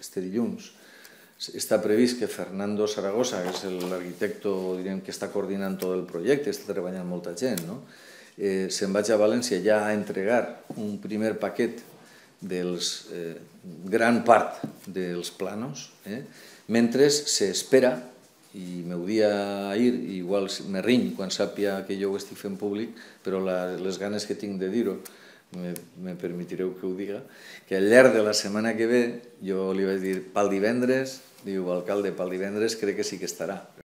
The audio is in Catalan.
este dilluns. Està previst que Fernando Zaragoza, que és l'arquitecte que està coordinant tot el projecte, està treballant molta gent, se'n vaig a València ja a entregar un primer paquet dels gran part dels planos, mentre s'espera, i m'ho dia ahir, igual me riny quan sàpia que jo ho estic fent públic, però les ganes que tinc de dir-ho me permetireu que ho diga, que al llarg de la setmana que ve jo li vaig dir pel divendres, diu, alcalde, pel divendres crec que sí que estarà.